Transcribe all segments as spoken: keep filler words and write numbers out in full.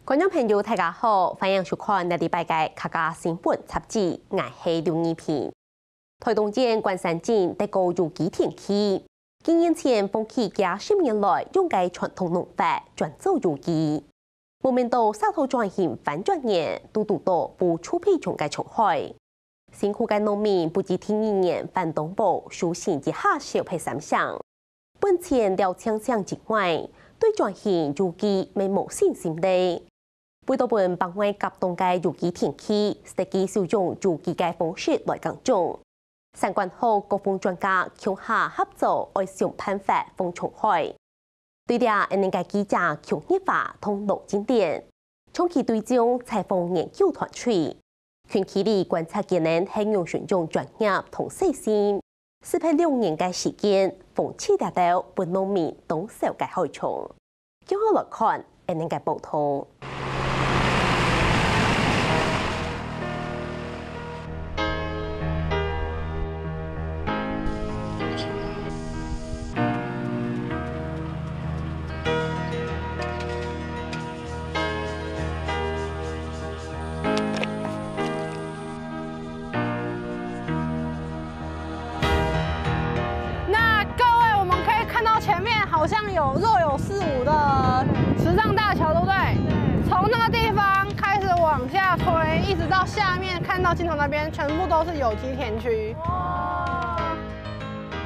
觀眾朋友，大家好，歡迎收看這禮拜个客家新聞雜誌，𠊎係劉義萍。台東縣關山鎮得過有機田區，幾年前放棄幾十年來用个傳統農法，轉做有機。無想到沙頭轉型翻轉年，堵堵到無臭屁蟲个蟲害。 辛苦个農民不知第二年還當無收成一下小白三成。本錢了淨淨之外，對轉型有機乜無信心咧。為著分北外甲東个有機田區，設計使用有機个方式來耕種。產官學各方專家共下合作，愛想辦法防蟲害。 對這，𠊎等个記者邱日華同羅金典，長期追蹤採訪研究團隊，近距離觀察佢等係仰使用專業同細心，四十六年个時間，防治這兜分農民當愁个害蟲。共下來看𠊎等个報導。 那各位，我們可以看到前面好像有若有似無的池上大橋，對不對？從那個地方開始往下推，一直到下面看到盡頭那邊，全部都是有機田區。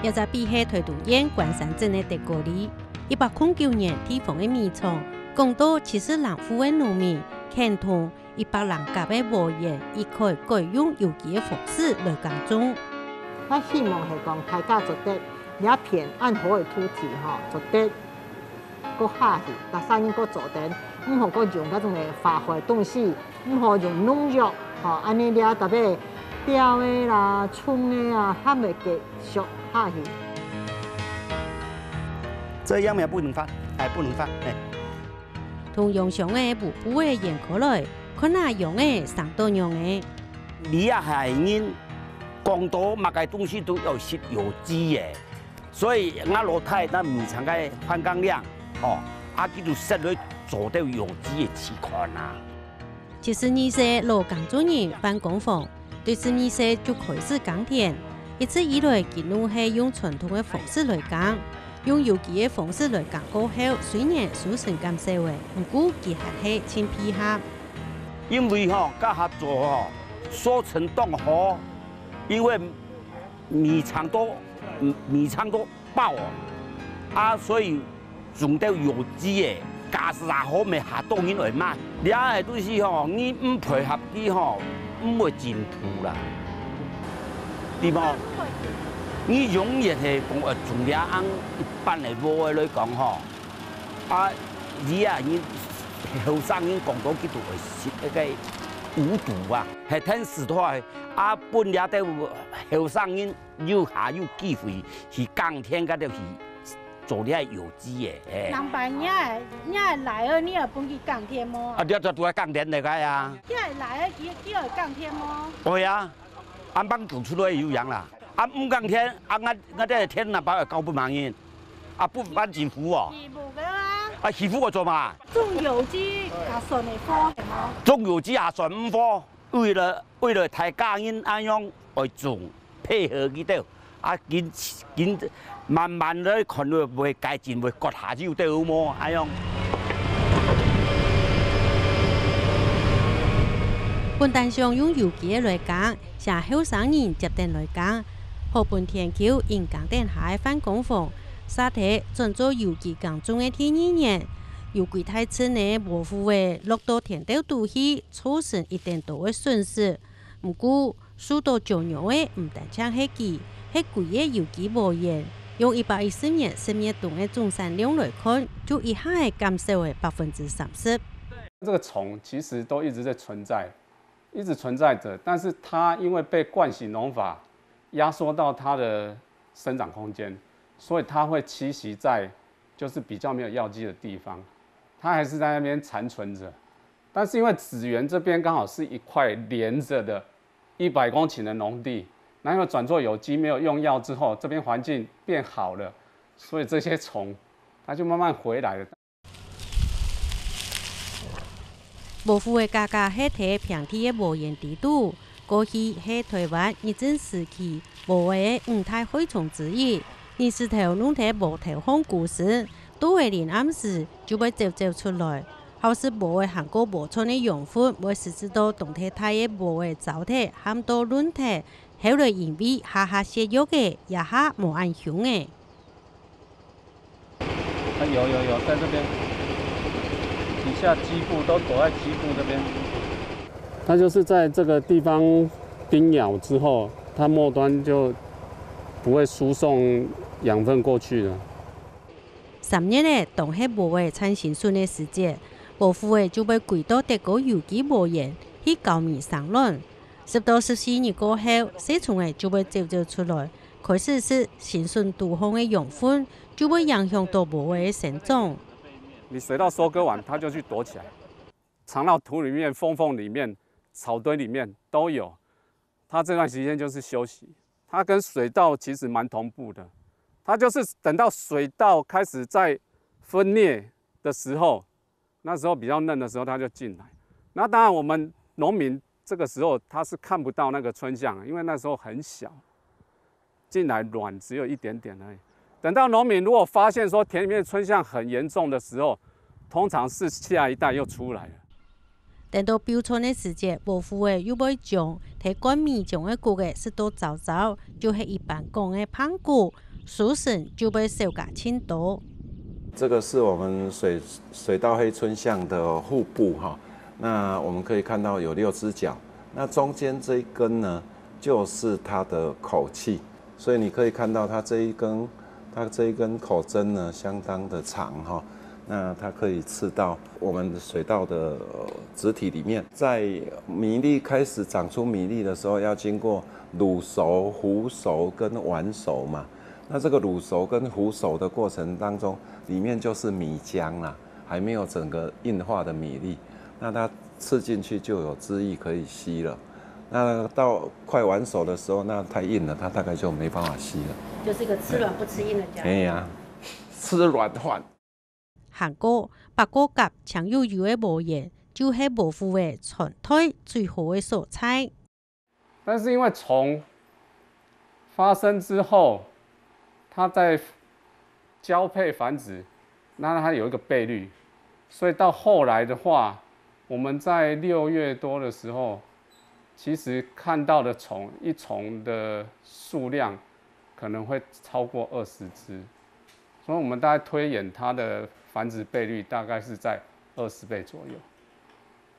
這隻位係台東縣關山鎮个德哥里，一百空九年地方个米廠，廣到七十零戶个農民，牽同 一百零甲个禾園一概改用有機个方式來耕種。𠊎希望係講大家做得這片恁好个土地吼，做得過下去，逐儕人過做得，毋好過用該種个化學東西，毋好用農藥，吼，恁呢這逐个鳥仔啦、蟲仔啊，還會繼續下去。這樣也不能放，哎，不能放，哎。 同秧箱个烏布仔掀開來，看下秧仔生到仰仔。這下人講到麼个東西都愛食有機个，所以𠊎老弟在米廠个番工廠，吼，啊，佢就設來做兜有機个試看啊。 七十二歲老耕作人范光鳳，對十二歲就開始耕田，一直以來佢都係用傳統个方式來耕，用有機个方式來耕過後，雖然收成減少了，毋過佢還係盡配合。因為吼，該下做吼，收成當好，因為米廠都，米廠都 包哦。啊，所以用兜有機个，價數也好，乜較多人來買。這个東西吼，你毋配合佢吼，毋會進步啦，對無？你永遠係講，呃，從這樣一般个話來講吼，啊，你啊，你後生人講到佢都會食該个無毒啊，係天時代啊，分這兜後生人 又還有機會去耕田，該就去做這有機个，嘿。人伯，你个，你个倈仔，你有分佢耕田無？啊，你就都愛耕田个該啊。你个倈仔，佢，佢會耕田無？會啊，啊，幫做出來有影啦。啊，毋耕田，啊，𠊎，𠊎這田哪包會交分別人？啊，分別人欺負哦。欺負个啊。啊，欺負𠊎做麼？種有機也算會好，係無？種有機也算毋好。 為了，為了大家人恁樣愛種，配合佢兜，啊，緊，緊慢慢來看會，會改進，會割下去就對無，恁樣。本旦想用有機个來耕，請後生人接等來耕，好分田坵因耕等下个番公房，沙地轉做有機耕種个第二年，有幾大陣个禾麩仔落到田坵肚去， 造成一定多个損失。毋過，受到鳥仔个毋單淨係佢，係歸个有機禾園。用一百一十年十月冬个總產量來看，就一下仔減少了百分之三十。這個蟲其實都一直在存在，一直存在著，但是它因為被慣行農法壓縮到它的生長空間，所以它會棲息在就是比較沒有藥劑的地方，它還是在那邊殘存著。 但是因為子園這邊剛好是一塊連著的一百公頃的農地，那因為轉做有機，沒有用藥之後，這邊環境變好了，所以這些蟲它就慢慢回來了。禾麩个價格係在平地个禾園底肚，過去係臺灣日治時期禾仔个五大害蟲之一。日時頭弄忒禾頭項枯時，到仔臨暗時就會走走出來。好食禾仔還過禾蟲个養分會食食到當忒大个禾仔燥忒，喊到論忒，後來因為下下雪藥仔，這下無恁兇仔。 啊，有有有，在這邊，底下基部都躲在基部這邊。它就是在這個地方叮咬之後，它末端就不會輸送養分過去了。三月仔，當係禾仔產新筍个時節，禾麩仔就會歸到德哥有機禾園去交尾生卵。十到十四日過後，細蟲仔就會走走出來， 開始食新筍肚項个養分，就會影響到禾仔个生長。你水稻收割完，它就去躲起來，藏到土裡面、縫縫裡面、草堆裡面都有。它這段時間就是休息，它跟水稻其實蠻同步的。它就是等到水稻開始在分裂的時候， 那時候比較嫩的時候，它就進來。那當然，我們農民這個時候他是看不到那個春象，因為那時候很小，進來卵只有一點點而已。等到農民如果發現說田裡面的春象很嚴重的時候，通常是下一代又出來了。等到標春个時節，禾麩仔又會將在灌米漿个穀仔食到燥燥，就係一般講个胖穀， 收成就會少加盡多。這個是我們水，水稻黑春象的腹部哈，那我們可以看到有六隻腳，那中間這一根呢，就是它的口器，所以你可以看到它這一根，它這一根口針呢，相當的長哈，那它可以刺到我們水稻的，呃，植體裡面。在米粒開始長出米粒的時候，要經過 滷熟、糊熟跟丸熟嘛。那這個滷熟跟糊熟的過程當中，裡面就是米漿啦，還沒有整個硬化的米粒。那它吃進去就有汁液可以吸了。那到快完熟的時候，那太硬了，它大概就沒辦法吸了。就是一個吃軟不吃硬的家伙。哎呀，吃軟飯。 還過，八哥甲淨有油个禾園，就係禾麩仔傳代最好个所在。但是因為蟲發生之後，它在交配繁殖，那它有一個倍率，所以到後來的話，我們在六月多的時候，其實看到的蟲，一蟲的數量可能會超過二十隻。 所以我們大概推演它的繁殖倍率大概是在二十倍左右。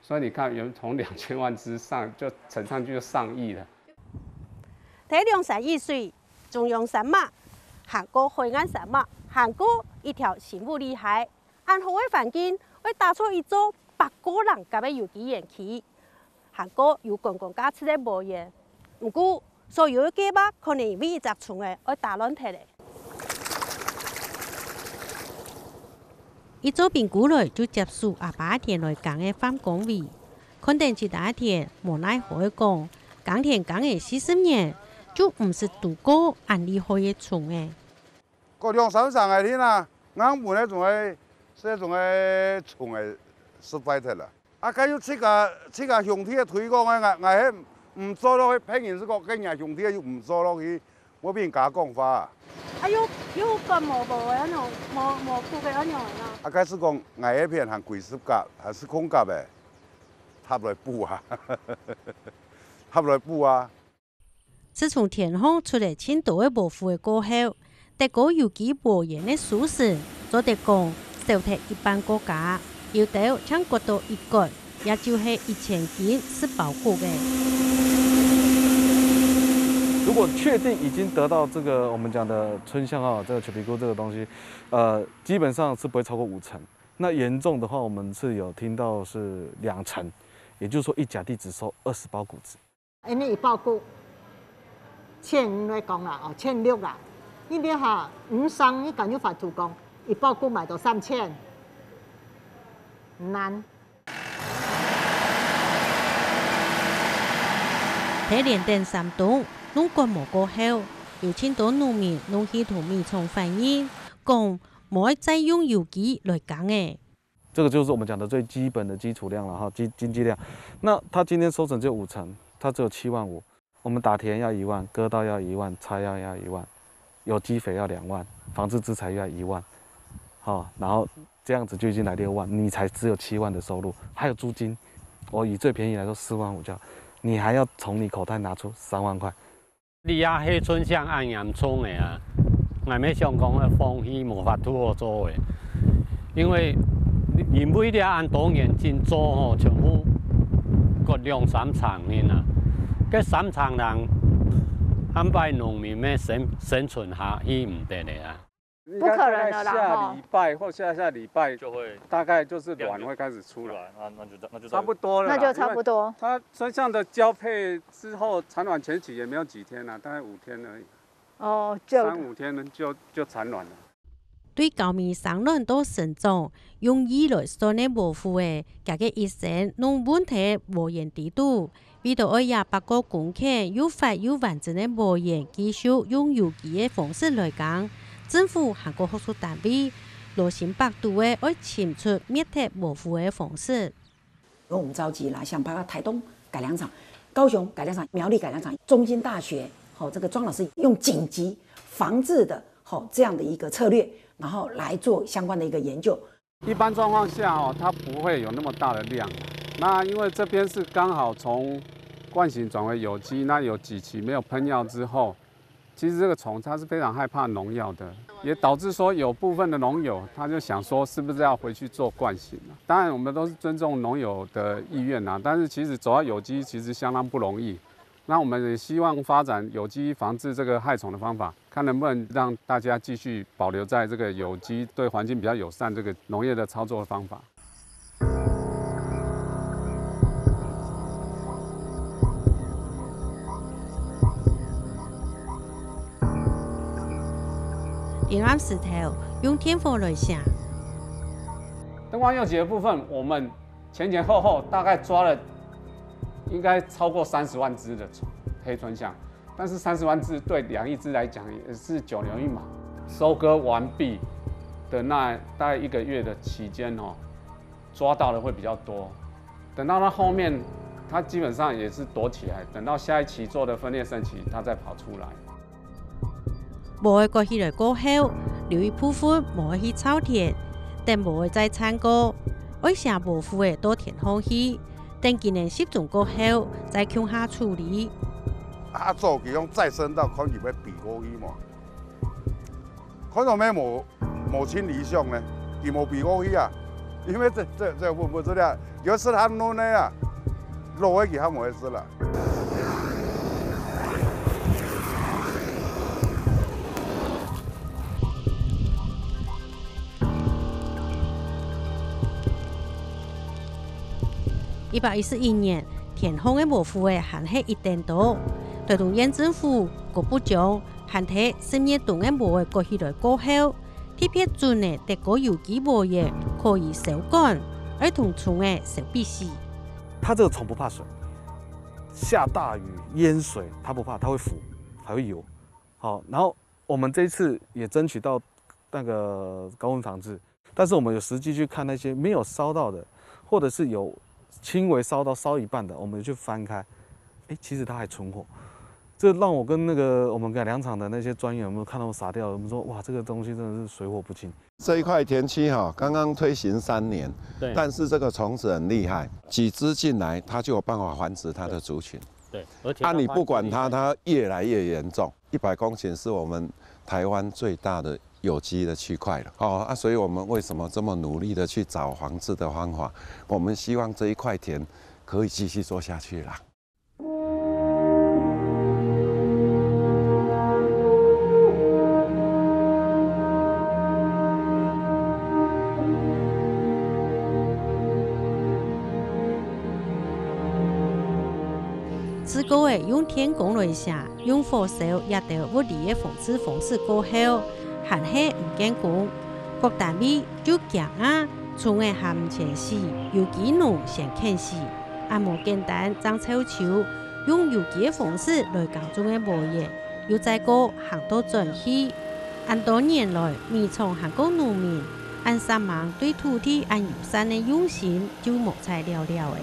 所以你看，原從兩千萬隻上，就乘上去就上億了。在兩山一水，中央山脈，還過海岸山脈，還過一條新武里溪，恁好个環境，會打造一座八哥籠甲个有機園區。 還過有觀光價值个禾園。毋過，所有个計畫可能因為一隻蟲仔愛打亂忒咧。一做兵過來就接手阿爸田來耕个范光偉，看等自家田，無奈何个講，耕田耕了四十年，就毋識堵過恁厲害个蟲仔。 過兩三成个天啊，硬分个種个，這種个蟲仔食壞忒啦。啊，該有自家，自家兄弟个推廣个，𠊎，𠊎係毋做落去，別人係講，該若兄弟又毋做落去，莫分人家講話啊。啊，有，有割無，無个恁樣，無，無割个恁樣啊。啊，該係講，𠊎該片還歸十甲，還係空甲个，搭來補啊，搭來補啊。 自從田項出了盡多个禾麩仔過後，德哥有機禾園个收成做得講少忒一半个價，有兜淨割到一角，也就係一千斤十包穀仔。如果確定已經得到這個我們講的春象啊，這個裘皮菇這個東西，呃，基本上是不會超過五成。那嚴重的話，我們是有聽到是兩成，也就是說一甲地只收二十包穀子。 因為一包穀千五來講啦，哦，千六啦。你這下五成，你敢有法度講，一包穀賣到三千？難。在連等三冬，農改無過後，有盡多農民攏去同米廠反映，講無愛再用有機來耕仔。这个就是我们讲的最基本的基础量了哈，经经济量。那它今天收成只有五成，它只有七万五。我们打田要一万，割稻要一万，插秧要一万，有机肥要两万，防治资材又要一万，好，然后这样子就已经来六万，你才只有七万的收入，还有租金。我以最便宜来说四万五就好，你还要从你口袋拿出三万块。 你啊，黑春象恁嚴重个啊，𠊎乜想講，該風氣無法度好做个，因為因為這恁多年真做吼，全部割兩三場呢啊，該三場人，恁擺農民乜生生存下去毋得了啊。不可能了啦下礼拜或下下礼拜，就会大概就是卵会开始出来，出来，那那就那就差不多了啦，那就差不多。因为它春象的交配之后，产卵前期也没有几天啊，大概五天而已，哦，就三五天呢就就产卵了。對高米生卵到成長，用億來算个禾夫仔，佢个一生攏蹉在禾園底肚。為著愛這百過公頃又闊又完整个禾園，繼續用有機个方式來耕，政府還過學術單位，羅心百度个愛尋出滅忒禾夫个方式。 因为我们召集了像包括台东改良场、高雄改良场、苗栗改良场、中兴大学，好、这个庄老师用紧急防治的，好、这样的一个策略，然后来做相关的一个研究。一般状况下哦，它不会有那么大的量。那因为这边是刚好从惯性转为有机，那有几期没有喷药之后，其实这个虫它是非常害怕农药的，也导致说有部分的农友他就想说，是不是要回去做惯性啊？当然，我们都是尊重农友的意愿啊，但是其实走到有机其实相当不容易。那我们也希望发展有机防治这个害虫的方法，看能不能让大家继续保留在这个有机、对环境比较友善这个农业的操作的方法。点燃石头，用电火来烧。灯光幼节的部分，我们前前后后大概抓了应该超过三十万只的黑春象，但是三十万只对两亿只来讲也是九牛一毛。收割完毕的那大概一个月的期间哦，抓到的会比较多。等到它后面，它基本上也是躲起来，等到下一期做的分裂生期，它再跑出来。禾仔割起來過後，留一部分無愛去蹧田，等禾仔再產過，愛先禾夫仔到田項去，等佢等集中過後，再共下處理。啊，做佢講再生稻，看佢愛避過去無？看到尾無無清理上呢，佢無避過去啊，因為這這這分不出了，有時佢嫩个啊，老个佢還無會食啦。 一百一十一年，田項个禾夫仔還係一等多。臺東縣政府各部長還在十月冬个禾仔割起來過後，特別準个得過有機禾仔可以收乾，愛同蟲仔收比死。它这个虫不怕水，下大雨淹水它不怕，它会浮，还会游。好，然后我们这一次也争取到那个高温防治，但是我们有实际去看那些没有烧到的，或者是有轻微烧到烧一半的，我们就翻开，哎，其实它还存活。这让我跟那个我们改良场的那些专员有没有看到傻掉？我们说哇，这个东西真的是水火不侵。这一块田区哈，刚刚推行三年，对但是这个虫子很厉害，几只进来，它就有办法繁殖它的族群。对，而且啊，你不管它，它它越来越严重。一百公顷是我们台湾最大的有机的区块了。哦，啊，所以我们为什么这么努力的去找防治的方法？我们希望这一块田可以继续做下去啦。 自古仔用電工來寫，用火燒這兜物理个防治方式過後，還係毋見功。各單位就驚啊，蟲仔還毋曾死，有機農先肯死。恁無簡單正湊手，用有機个方式來耕種个禾仔，又再過行到轉去。恁多年來，米廠還過農民恁煞猛，對土地恁友善个用心就無再了了了。